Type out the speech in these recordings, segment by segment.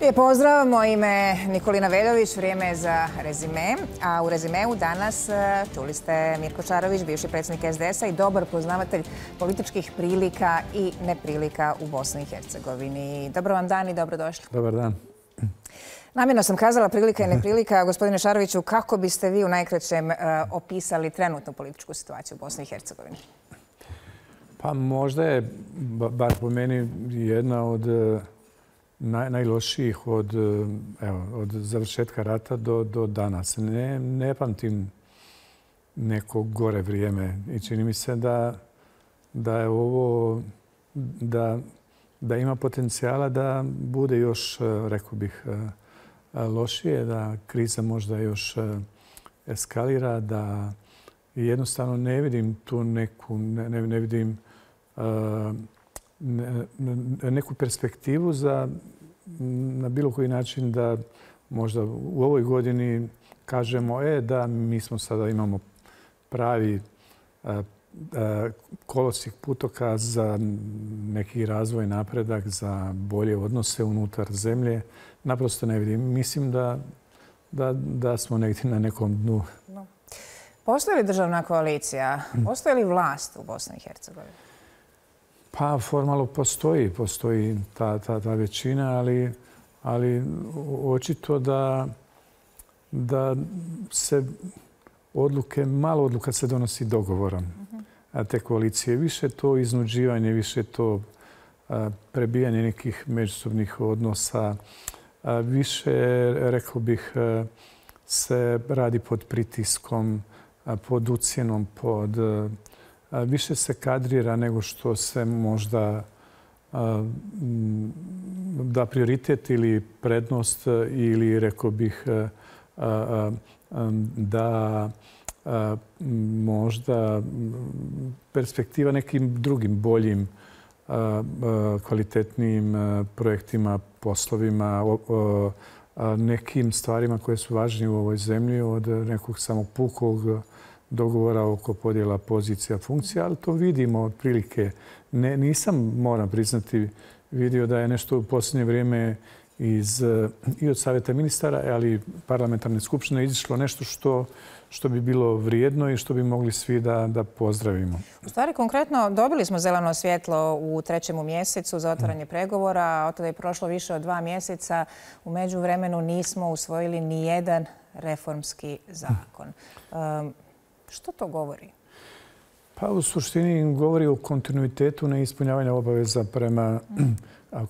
Lijep pozdrav, moje ime Nikolina Veljović, vrijeme je za rezime. A u rezimeu danas čuli ste Mirko Šarović, bivši predsjednik SDS-a i dobar poznavatelj političkih prilika i neprilika u Bosni i Hercegovini. Dobar vam dan i dobrodošli. Dobar dan. Namjerno sam kazala prilika i neprilika. Gospodine Šaroviću, kako biste vi u najkraćem opisali trenutnu političku situaciju u Bosni i Hercegovini? Pa možda je, bar po meni, jedna od najlošijih od završetka rata do danas. Ne pamtim neko gore vrijeme i čini mi se da je ovo, da ima potencijala da bude još, rekao bih, lošije, da kriza možda još eskalira, da jednostavno ne vidim tu ne vidim neku perspektivu za na bilo koji način da možda u ovoj godini kažemo da mi smo sada imamo pravi kolosijek putoka za neki razvoj, napredak, za bolje odnose unutar zemlje. Naprosto ne vidim. Mislim da smo negdje na nekom dnu. Postoji li državna koalicija? Postoji li vlast u Bosni i Hercegovini? Pa formalno postoji ta većina, ali očito da se malo odluka se donosi dogovorom. Te koalicije, više to iznuđivanje, više to prebijanje nekih međusobnih odnosa, više, rekao bih, se radi pod pritiskom, pod ucjenom, više se kadrira nego što se možda da prioritet ili prednost ili, rekao bih, da možda perspektiva nekim drugim boljim, kvalitetnijim projektima, poslovima, nekim stvarima koje su važnije u ovoj zemlji od nekog samog pukog dogovora oko podjela pozicija, funkcija, ali to vidimo otprilike. Nisam, moram priznati, vidio da je nešto u posljednje vrijeme i od Savjeta ministara, ali i parlamentarne skupštine izišlo nešto što bi bilo vrijedno i što bi mogli svi da pozdravimo. U stvari, konkretno, dobili smo zeleno svjetlo u 3. mjesecu za otvaranje pregovora. Od tada je prošlo više od 2 mjeseca. U međuvremenu nismo usvojili ni jedan reformski zakon. Što to govori? Pa u suštini govori o kontinuitetu neispunjavanja obaveza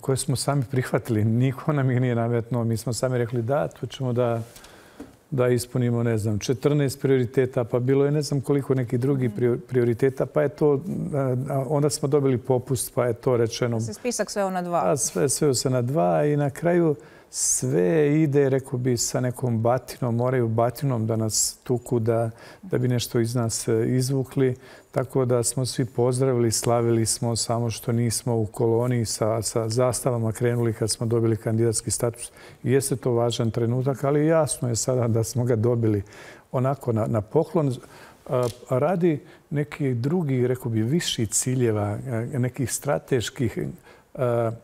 koje smo sami prihvatili. Niko nam ih nije nametnuo. Mi smo sami rekli tu ćemo da ispunimo, 14 prioriteta, pa bilo je ne znam koliko nekih drugih prioriteta, pa je to, onda smo dobili popust, pa je to rečeno. Se spisak sveo na 2. Sveo se na 2 i na kraju sve ide, rekao bi, sa nekom batinom, moraju batinom da nas tuku, da bi nešto iz nas izvukli. Tako da smo svi pozdravili, slavili smo, samo što nismo u koloni sa zastavama krenuli kad smo dobili kandidatski status. Jeste to važan trenutak, ali jasno je sada da smo ga dobili onako na poklon radi nekih drugih, rekao bi, viših ciljeva, nekih strateških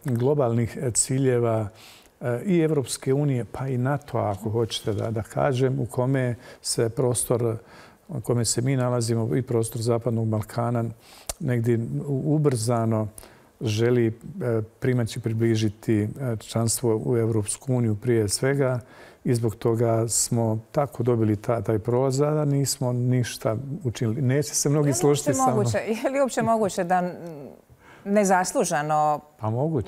globalnih ciljeva i Evropske unije, pa i NATO-a, ako hoćete da kažem, u kome se prostor, u kome se mi nalazimo, i prostor Zapadnog Balkana, negdje ubrzano želi približiti članstvo u Evropsku uniju prije svega i zbog toga smo tako dobili taj prolaz, a nismo ništa učinili. Neće se mnogi složiti sa mnom. Je li uopće moguće da nezasluženo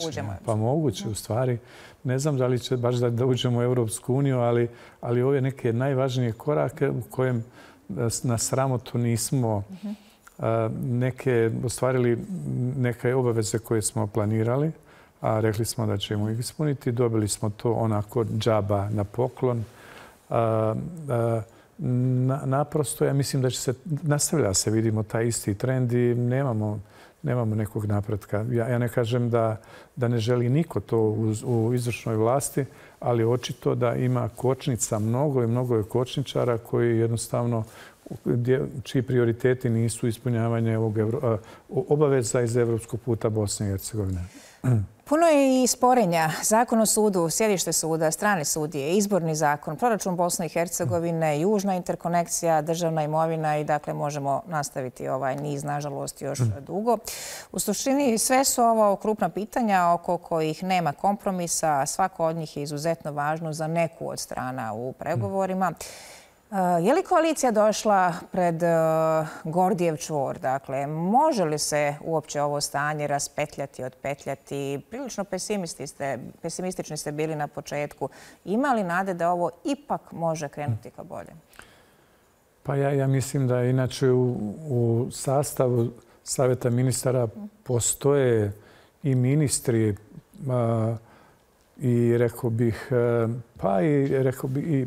uđemo? Pa moguće, u stvari. Ne znam da li će baš da uđemo u Evropsku uniju, ali ove neke najvažnije korake u kojem na sramotu nismo ostvarili neke obaveze koje smo planirali, a rekli smo da ćemo ih ispuniti. Dobili smo to onako džaba na poklon. Naprosto, ja mislim da će se nastavlja se, vidimo taj isti trend i nemamo nekog napretka. Ja ne kažem da ne želi niko to u izvršnoj vlasti, ali očito da ima kočnica mnogo i mnogo je kočničara koji jednostavno čiji prioriteti nisu ispunjavanje obaveza iz evropskog puta Bosne i Hercegovine. Puno je i sporenja. Zakon o sudu, sjedište suda, strane sudije, izborni zakon, proračun Bosne i Hercegovine, južna interkonekcija, državna imovina i dakle možemo nastaviti ovaj niz, nažalost, još dugo. U suštini sve su ovo krupna pitanja oko kojih nema kompromisa, a svako od njih je izuzetno važno za neku od strana u pregovorima. Je li koalicija došla pred Gordijev čvor? Dakle, može li se uopće ovo stanje raspetljati, otpetljati? Prilično pesimistični ste bili na početku. Ima li nade da ovo ipak može krenuti ka bolje? Pa ja mislim da inače u sastavu Savjeta ministara postoje i ministri i rekao bih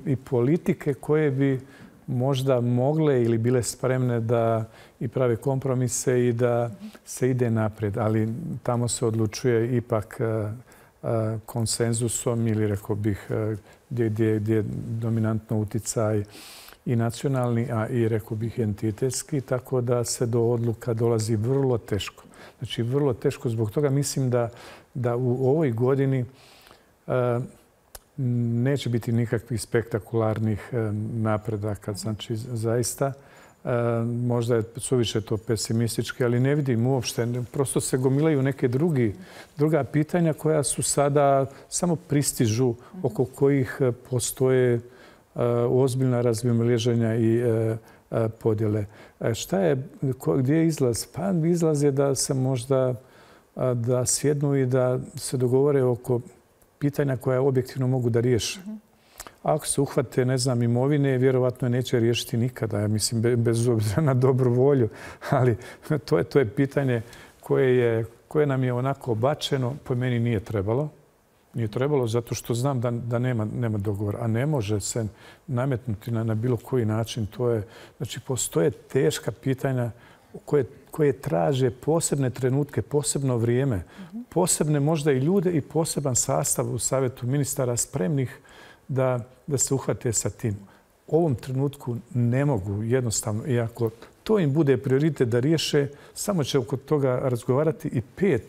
i politike koje bi možda mogle ili bile spremne da i prave kompromise i da se ide naprijed. Ali tamo se odlučuje ipak konsenzusom ili rekao bih gdje je dominantno utjecaj i nacionalni, a i rekao bih entitetski, tako da se do odluka dolazi vrlo teško. Znači vrlo teško. Zbog toga mislim da u ovoj godini neće biti nikakvih spektakularnih napredaka. Znači, zaista, možda je suviše to pesimistički, ali ne vidim uopšte. Prosto se gomilaju neke druga pitanja koja su sada samo pristižu, oko kojih postoje ozbiljna razmimoilaženja i podjele. Gdje je izlaz? Pa izlaz je da se možda da sjednu i da se dogovore oko pitanja koja objektivno mogu da riješe. Ako se uhvate, ne znam, imovine, vjerovatno je neće riješiti nikada. Ja mislim, bez obzira na dobru volju. Ali to je pitanje koje nam je onako bačeno. Po meni nije trebalo. Nije trebalo zato što znam da nema dogovora. A ne može se nametnuti na bilo koji način. Znači, postoje teška pitanja koje traže posebne trenutke, posebno vrijeme, posebne možda i ljude i poseban sastav u Savjetu ministara spremnih da se uhvate sa tim. U ovom trenutku ne mogu jednostavno, i ako to im bude prioritet da riješe, samo će oko toga razgovarati i 5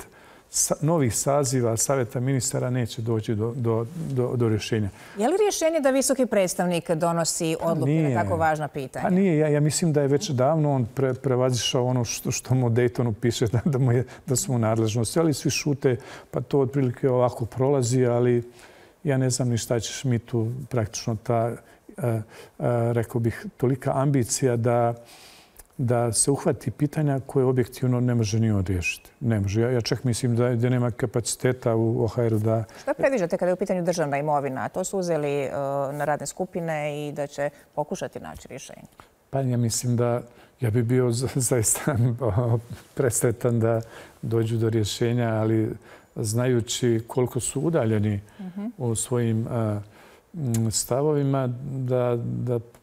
novih saziva Savjeta ministara neće doći do rješenja. Je li rješenje da visoki predstavnik donosi odluke na tako važna pitanja? Pa nije. Ja mislim da je već davno on prevazišao ono što mu u Daytonu piše da su mu nadležnosti. Ali svi šute, pa to otprilike ovako prolazi, ali ja ne znam ni šta će Schmidtu praktično rekao bih, tolika ambicija da se uhvati pitanja koje objektivno ne može ni on riješiti. Ne može. Ja čak mislim da nema kapaciteta u OHR-u da... Šta predviđate kada je u pitanju državna imovina? To su uzeli na radne skupine i da će pokušati naći rješenje. Pa ja mislim da ja bi bio zaista presretan da dođu do rješenja, ali znajući koliko su udaljeni u svojim stavovima,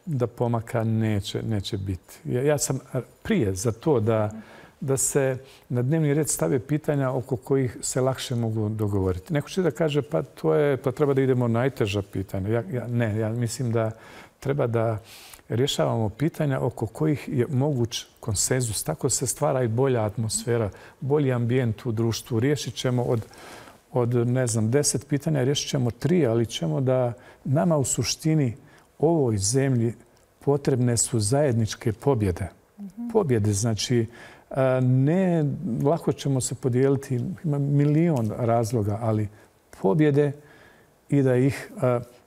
da pomaka neće biti. Ja sam prije za to da se na dnevni red stave pitanja oko kojih se lakše mogu dogovoriti. Neko će da kaže pa treba da idemo najteža pitanja. Ja mislim da treba da rješavamo pitanja oko kojih je moguć konsenzus. Tako se stvara i bolja atmosfera, bolji ambijent u društvu. Riješit ćemo od 10 pitanja, riješit ćemo 3, ali ćemo da nama u suštini ovoj zemlji potrebne su zajedničke pobjede. Pobjede, znači, ne lako ćemo se podijeliti, ima milion razloga, ali pobjede i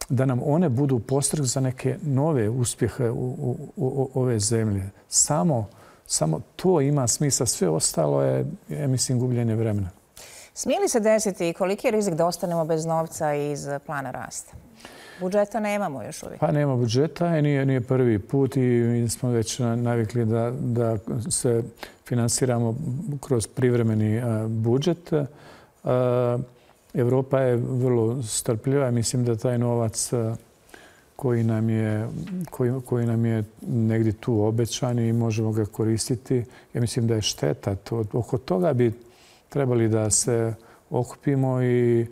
da nam one budu postreh za neke nove uspjehe u ove zemlje. Samo to ima smisla. Sve ostalo je, ja mislim, gubljenje vremena. Smije li se desiti i koliki je rizik da ostanemo bez novca iz plana rasta? Budžeta nemamo još uvijek. Pa nema budžeta i nije prvi put i mi smo već navikli da se finansiramo kroz privremeni budžet. Europa je vrlo strpljiva. Mislim da taj novac koji nam je negdje tu obećan i možemo ga koristiti, ja mislim da je šteta. Oko toga bi trebali da se okupimo i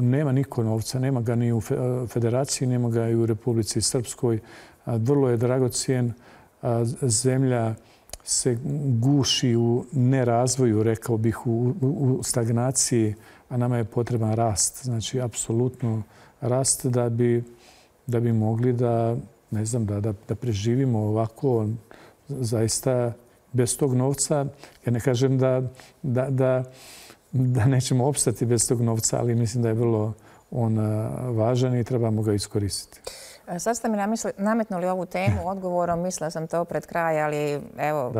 nema niko novca, nema ga ni u Federaciji, nema ga i u Republici Srpskoj. Vrlo je dragocijen. Zemlja se guši u nerazvoju, rekao bih, u stagnaciji, a nama je potreban rast. Znači, apsolutno rast da bi mogli da, ne znam, da preživimo ovako zaista bez tog novca. Ja ne kažem da nećemo opstati bez tog novca, ali mislim da je vrlo on važan i trebamo ga iskoristiti. Sad ste mi nametnuli ovu temu odgovorom, mislila sam to pred kraj, ali evo,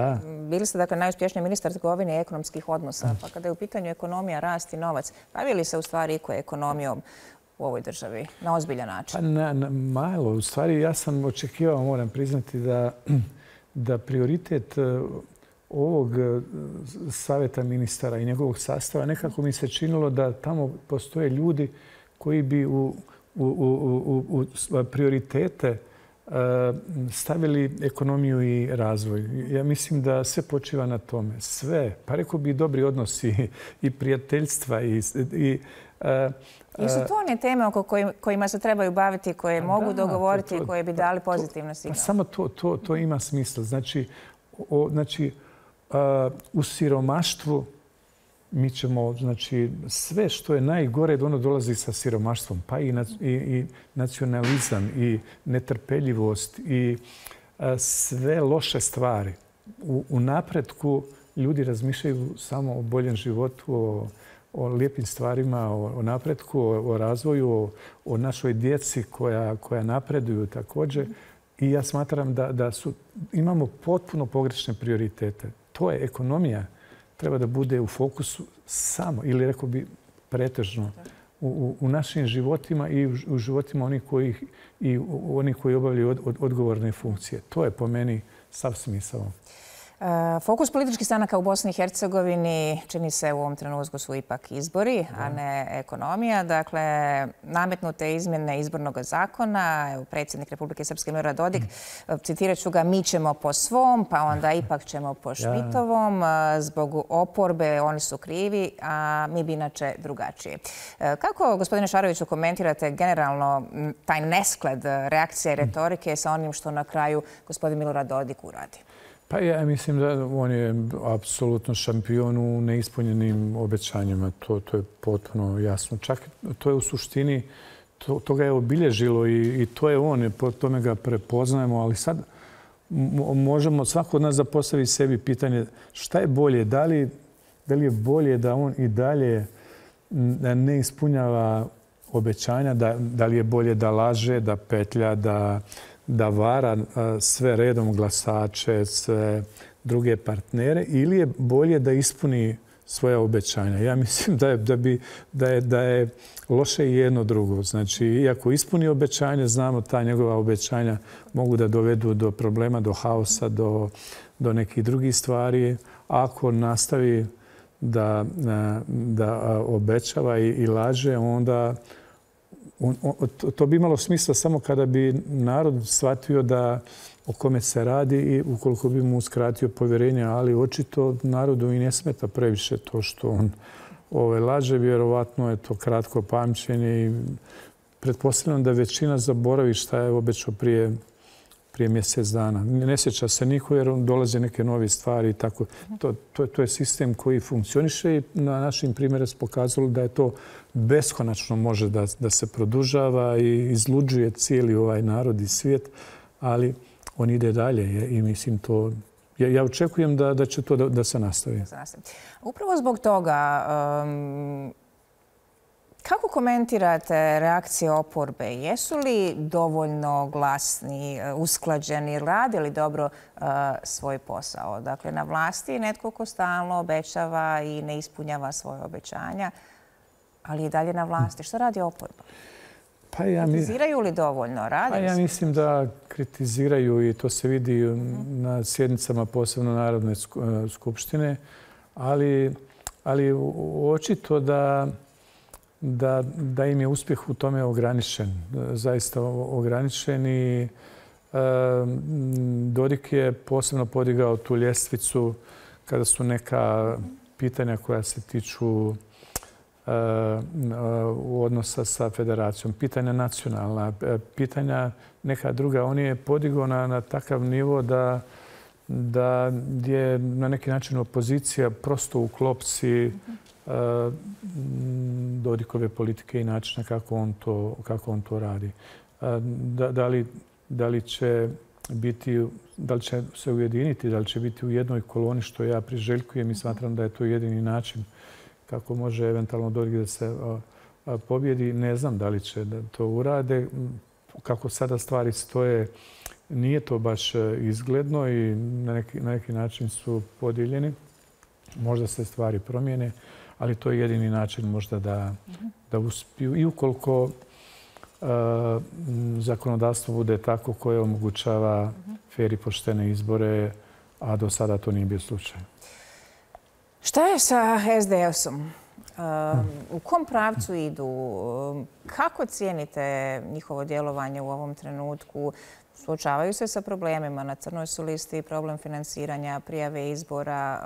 bili ste dakle najuspješniji ministar trgovine i ekonomskih odnosa, pa kada je u pitanju ekonomija, rast i novac, bavi li se u stvari iko ekonomijom u ovoj državi na ozbiljan način? Pa malo. U stvari ja sam očekivao, moram priznati, da prioritet ovog savjeta ministara i njegovog sastava nekako mi se činilo da tamo postoje ljudi koji bi u prioritete stavili ekonomiju i razvoj. Ja mislim da sve počiva na tome. Sve. Pa rekao bi dobri odnosi i prijateljstva Jesu to one teme oko kojima se trebaju baviti, koje mogu dogovoriti i koje bi dali pozitivne signale? Samo to ima smisla. Znači, u siromaštvu mi ćemo, znači, sve što je najgore, ono dolazi sa siromaštvom, pa i nacionalizam i netrpeljivost i sve loše stvari. U napretku ljudi razmišljaju samo o boljem životu, o lijepim stvarima, o napretku, o razvoju, o našoj djeci koja napreduju također. I ja smatram da imamo potpuno pogrešne prioritete. To je ekonomija. Treba da bude u fokusu samo, ili rekao bi pretežno, u našim životima i u životima onih koji obavljaju odgovorne funkcije. To je po meni sav smisao. Fokus političkih stranaka u Bosni i Hercegovini čini se u ovom trenutku su ipak izbori, a ne ekonomija. Dakle, nametnute izmjene izbornog zakona, predsjednik Republike Srpske Milorad Dodik, citirat ću ga, mi ćemo po svom, pa onda ipak ćemo po Šmitovom. Zbog oporbe oni su krivi, a mi bi inače drugačije. Kako, gospodine Šaroviću, komentirate generalno taj nesklad reakcije i retorike sa onim što na kraju gospodin Milorad Dodik uradi? Pa ja mislim da on je apsolutno šampion u neispunjenim obećanjima. To je potpuno jasno. Čak to je u suštini, to ga je obilježilo i to je on. Po tome ga prepoznajemo. Ali sad možemo svako od nas da postavi sebi pitanje šta je bolje. Da li je bolje da on i dalje ne ispunjava obećanja? Da li je bolje da laže, da petlja, da vara sve redom glasače, sve druge partnere, ili je bolje da ispuni svoja obećanja? Ja mislim da je loše i jedno drugo. Znači, iako ispuni obećanje, znamo ta njegova obećanja mogu da dovedu do problema, do haosa, do nekih drugih stvari. Ako nastavi da obećava i laže, onda to bi imalo smisla samo kada bi narod shvatio o kome se radi i ukoliko bi mu uskratio povjerenje, ali očito narodu i ne smeta previše to što on laže. Vjerovatno je to kratko pamćenje i pretpostavljam da većina zaboravi šta je obećao prije mjesec dana. Ne sjeća se niko jer dolaze neke nove stvari i tako. To je sistem koji funkcioniše i na našim primjeru se pokazalo da je to beskonačno može da se produžava i izluđuje cijeli ovaj narod i svijet, ali on ide dalje i mislim to... Ja očekujem da će to da se nastavi. Upravo zbog toga, kako komentirate reakcije oporbe? Jesu li dovoljno glasni, usklađeni, rade li dobro svoj posao? Dakle, na vlasti netko ko stalno obećava i ne ispunjava svoje obećanja, ali i dalje na vlasti. Što radi oporba? Kritiziraju li dovoljno? Ja mislim da kritiziraju i to se vidi na sjednicama posebno Narodne skupštine, ali očito da im je uspjeh u tome ograničen. Zaista ograničen i Dodik je posebno podigao tu ljestvicu kada su neka pitanja koja se tiču odnosa sa federacijom, pitanja nacionalna, pitanja neka druga. On je podigao na takav nivo da je na neki način opozicija prosto u klopci Dodikove politike i načina kako on to radi. Da li će se ujediniti, da li će biti u jednoj koloni, što ja priželjkujem i smatram da je to jedini način kako može eventualno Dodik da se pobjedi. Ne znam da li će da to urade. Kako sada stvari stoje, nije to baš izgledno i na neki način su podijeljeni. Možda se stvari promijene, ali to je jedini način možda da uspiju. I ukoliko zakonodavstvo bude tako koje omogućava fer i poštene izbore, a do sada to nije bio slučaj. Šta je sa SDS-om? U kom pravcu idu? Kako cijenite njihovo djelovanje u ovom trenutku? Suočavaju se sa problemima. Na crnoj su listi problem financiranja, prijave izbora.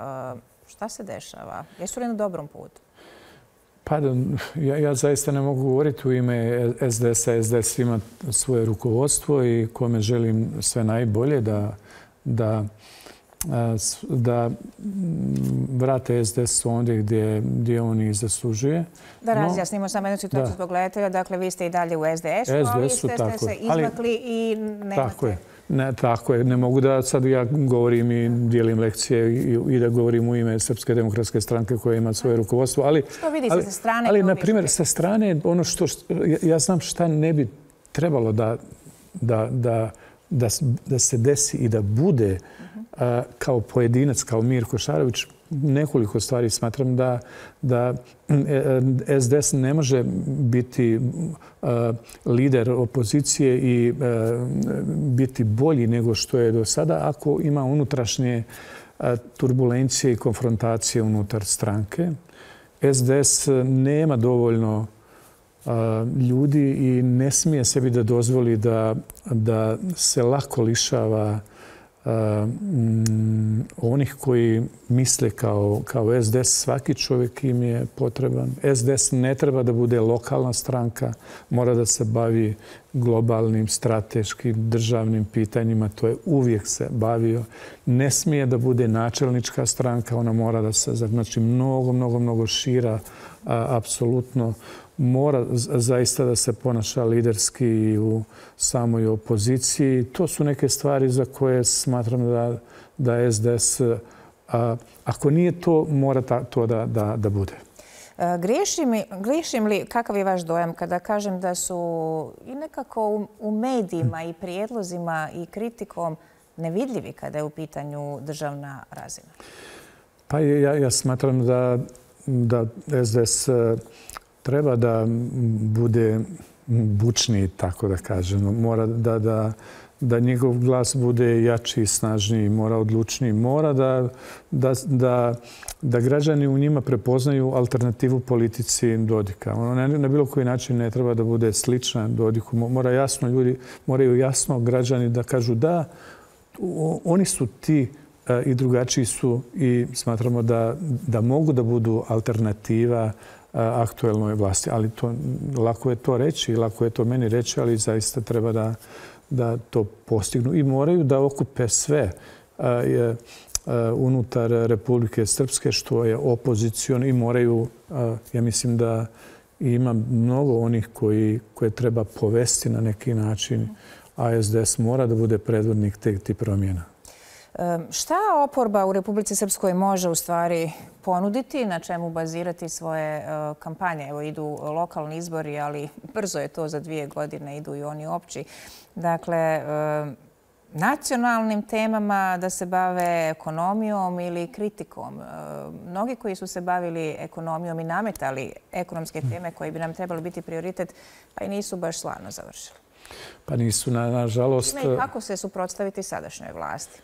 Šta se dešava? Jesu li na dobrom putu? Pa ja zaista ne mogu govoriti u ime SDS-a. SDS ima svoje rukovodstvo i kome želim sve najbolje da vrate SDS ondje gdje on i zaslužuje. Da razjasnimo samo jednu situaciju zbog gledatelja. Dakle, vi ste i dalje u SDS-u, ali ste se izmakli i nemate... Tako je. Ne mogu da sad ja govorim i dijelim lekcije i da govorim u ime Srpske demokratske stranke koja ima svoje rukovodstvo. Što vidite sa strane? Ali, na primjer, sa strane, ono što ja znam šta ne bi trebalo da se desi i da bude kao pojedinac, kao Mirko Šarović, nekoliko stvari smatram da SDS ne može biti lider opozicije i biti bolji nego što je do sada ako ima unutrašnje turbulencije i konfrontacije unutar stranke. SDS nema dovoljno ljudi i ne smije sebi da dozvoli da se lako lišava onih koji misle kao SDS. Svaki čovjek im je potreban. SDS ne treba da bude lokalna stranka, mora da se bavi globalnim, strateškim, državnim pitanjima. To je uvijek se bavio. Ne smije da bude načelnička stranka, ona mora da se, znači, mnogo šira, apsolutno. Mora zaista da se ponaša liderski i u samoj opoziciji. To su neke stvari za koje smatram da SDS, ako nije to, mora to da bude. Griješim li, kakav je vaš dojam kada kažem da su i nekako u medijima i prijedlozima i kritikom nevidljivi kada je u pitanju državna razina? Pa ja smatram da SDS treba da bude bučniji, tako da kažemo. Mora da njegov glas bude jači i snažniji, mora odlučniji. Mora da građani u njima prepoznaju alternativu politici Dodika. Na bilo koji način ne treba da bude slična Dodiku. Ljudi moraju jasno građani da kažu da, oni su ti i drugačiji su i smatramo da mogu da budu alternativa aktuelnoj vlasti. Ali lako je to reći i lako je to meni reći, ali zaista treba da to postignu. I moraju da okupe sve unutar Republike Srpske, što je opozicion, i moraju, ja mislim da ima mnogo onih koje treba povesti na neki način, a SDS mora da bude predvodnik tih promjena. Šta oporba u Republici Srpskoj može u stvari ponuditi, na čemu bazirati svoje kampanje? Evo, idu lokalni izbori, ali brzo je to, za 2 godine idu i oni opći. Dakle, nacionalnim temama da se bave ekonomijom ili kritikom. Mnogi koji su se bavili ekonomijom i nametali ekonomske teme koje bi nam trebali biti prioritet, pa i nisu baš slavno završili. Pa nisu, nažalost. I kako se suprotstaviti sadašnjoj vlasti?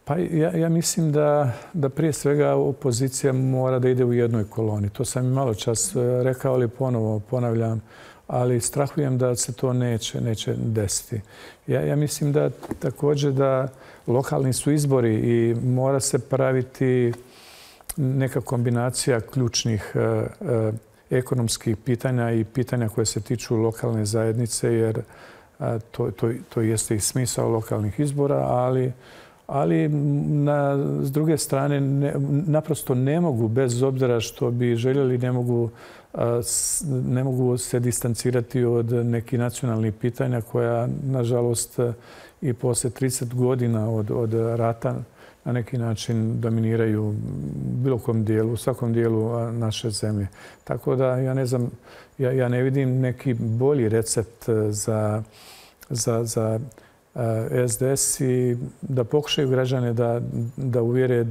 Pa ja mislim da prije svega opozicija mora da ide u jednoj koloni. To sam i malo čas rekao, ali ponovo ponavljam. Ali strahujem da se to neće desiti. Ja mislim da također da lokalni su izbori i mora se praviti neka kombinacija ključnih ekonomskih pitanja i pitanja koje se tiču lokalne zajednice, jer to jeste i smisao lokalnih izbora, ali s druge strane naprosto ne mogu, bez obzira što bi željeli, ne mogu se distancirati od nekih nacionalnih pitanja koja, nažalost, i poslije 30 godina od rata na neki način dominiraju u svakom dijelu naše zemlje. Tako da ja ne znam, ja ne vidim neki bolji recept za SDS i da pokušaju građane da uvjere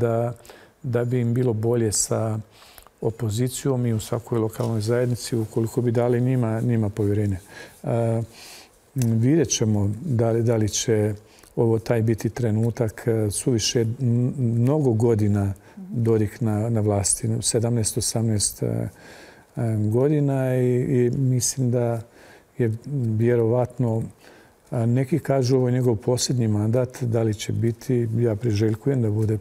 da bi im bilo bolje sa opozicijom i u svakoj lokalnoj zajednici ukoliko bi dali njima povjerenje. Vidjet ćemo da li će ovo taj biti trenutak. Suviše mnogo godina Dodik na vlasti, 17-18 godina i mislim da je vjerovatno, neki kažu ovo je njegov posljednji mandat, da li će biti, ja priželjkujem da bude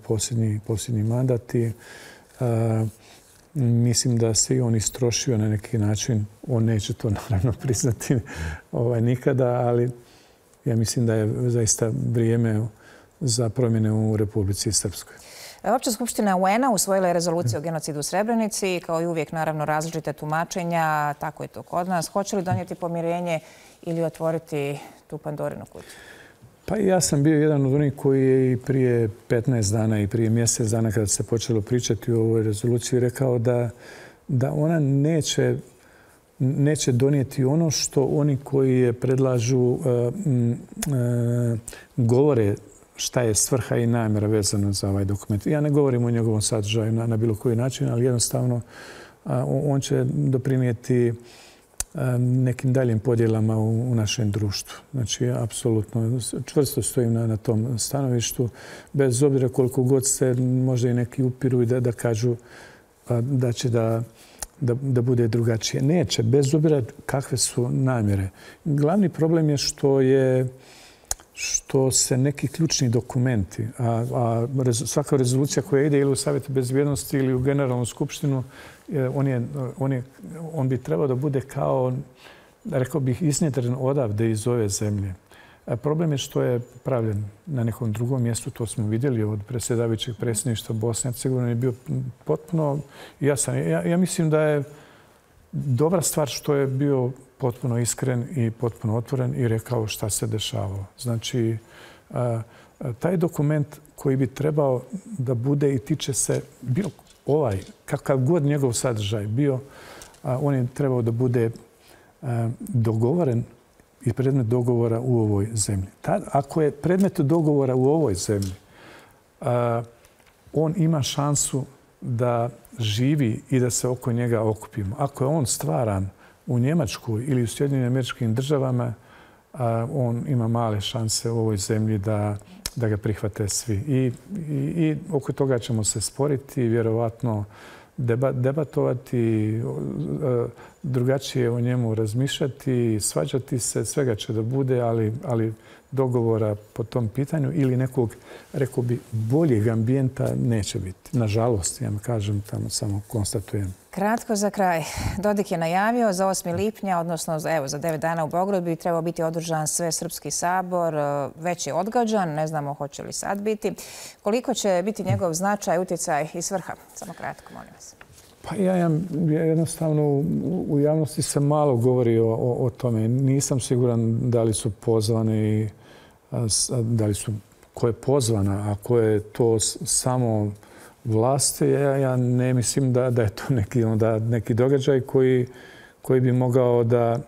posljednji mandat i mislim da se i on istrošio na neki način. On neće to naravno priznati nikada, ali ja mislim da je zaista vrijeme za promjene u Republici Srpskoj. Opća skupština UN-a usvojila je rezoluciju o genocidu u Srebrenici. Kao i uvijek, naravno, različite tumačenja. Tako je to kod nas. Hoće li donijeti pomirenje ili otvoriti tu Pandorinu kutiju? Pa ja sam bio jedan od onih koji je i prije 15 dana i prije mjesec dana kada se počelo pričati o ovoj rezoluciji rekao da ona neće donijeti ono što oni koji je predlažu govore šta je svrha i namjera vezana za ovaj dokument. Ja ne govorim o njegovom sadržaju na bilo koji način, ali jednostavno on će doprinijeti nekim daljim podjelama u našem društvu. Znači, apsolutno čvrsto stojim na tom stanovištu, bez obzira koliko god se možda i neki upiru i da kažu da će da bude drugačije. Neće, bez obzira kakve su namjere. Glavni problem je što se neki ključni dokumenti, a svaka rezolucija koja ide ili u Savjetu bezbjednosti ili u Generalnu skupštinu, on bi trebao da bude kao, rekao bih, iznjedren odavde iz ove zemlje. Problem je što je pravljen na nekom drugom mjestu, to smo vidjeli od predsjedavajućeg predsjedništva Bosne i Hercegovine, je bio potpuno jasan. Ja mislim da je dobra stvar što je bio potpuno iskren i potpuno otvoren i rekao šta se dešavalo. Znači, taj dokument koji bi trebao da bude i tiče se bilo kakav god njegov sadržaj bio, on je trebao da bude dogovoren i predmet dogovora u ovoj zemlji. Ako je predmet dogovora u ovoj zemlji, on ima šansu da živi i da se oko njega okupimo. Ako je on stvaran u Njemačkoj ili u Sjedinjenim Američkim Državama, on ima male šanse u ovoj zemlji da ga prihvate svi. I oko toga ćemo se sporiti, vjerovatno debatovati, drugačije o njemu razmišljati, svađati se, svega će da bude, ali dogovora po tom pitanju ili nekog, rekao bi, boljeg ambijenta neće biti. Nažalost, ja kažem, tamo samo konstatujem. Kratko za kraj. Dodik je najavio za 8. lipnja, odnosno za 9 dana u Beogradu bi trebao biti održan Svesrpski sabor. Već je odgađan, ne znamo hoće li sad biti. Koliko će biti njegov značaj, utjecaj i svrha? Samo kratko, molim vas. Pa ja jednostavno u javnosti se malo govori o tome. Nisam siguran da li su pozvani, da li su, ko je pozvana, a ko je to samo vlasti. Ja ne mislim da je to neki događaj koji bi mogao da,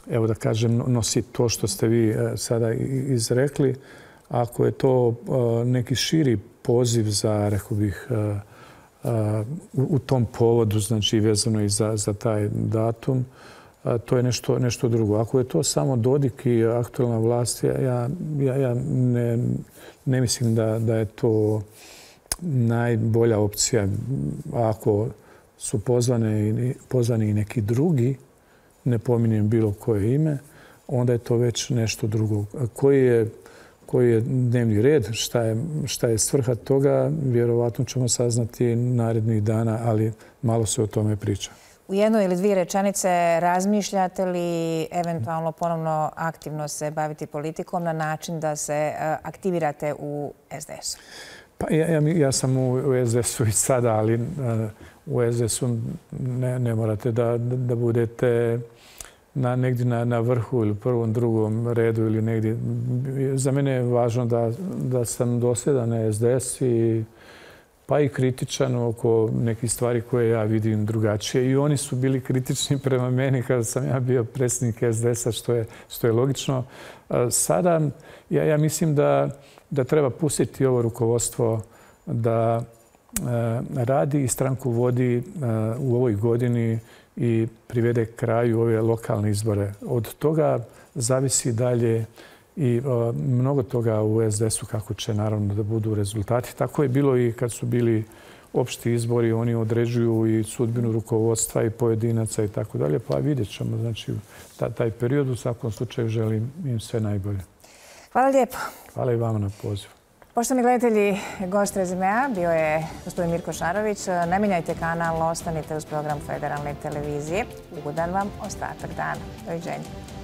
evo da kažem, nosi to što ste vi sada izrekli. Ako je to neki širi poziv za, rekao bih, u tom povodu, znači vezano i za taj datum, to je nešto drugo. Ako je to samo Dodik i aktualna vlast, ja ne mislim da je to najbolja opcija. Ako su pozvani i neki drugi, ne pominjem bilo koje ime, onda je to već nešto drugo. Koji je dnevni red, šta je svrha toga, vjerovatno ćemo saznati narednih dana, ali malo se o tome priča. u jednoj ili dvije rečenice razmišljate li eventualno ponovno aktivno se baviti politikom na način da se aktivirate u SDS-u? Pa ja sam u SDS-u i sada, ali u SDS-u ne morate da budete negdje na vrhu ili prvom, drugom redu ili negdje. Za mene je važno da sam dosljedan na SDS pa i kritičan oko nekih stvari koje ja vidim drugačije. I oni su bili kritični prema meni kada sam ja bio predsjednik SDS-a, što je logično. Sada ja mislim da treba pustiti ovo rukovodstvo da radi i stranku vodi u ovoj godini i privede kraju ove lokalne izbore. Od toga zavisi dalje i mnogo toga u SDS-u kako će naravno da budu rezultati. Tako je bilo i kad su bili opšti izbori, oni određuju i sudbinu rukovodstva i pojedinaca i tako dalje, pa vidjet ćemo. Znači, taj period u svakom slučaju želim im sve najbolje. Hvala lijepo. Hvala i vama na pozivu. Poštovani gledatelji, gost Rezimea bio je gospodin Mirko Šarović. Ne mijenjajte kanal, ostanite uz program Federalne televizije. Ugodan vam ostatak dana. Doviđenja.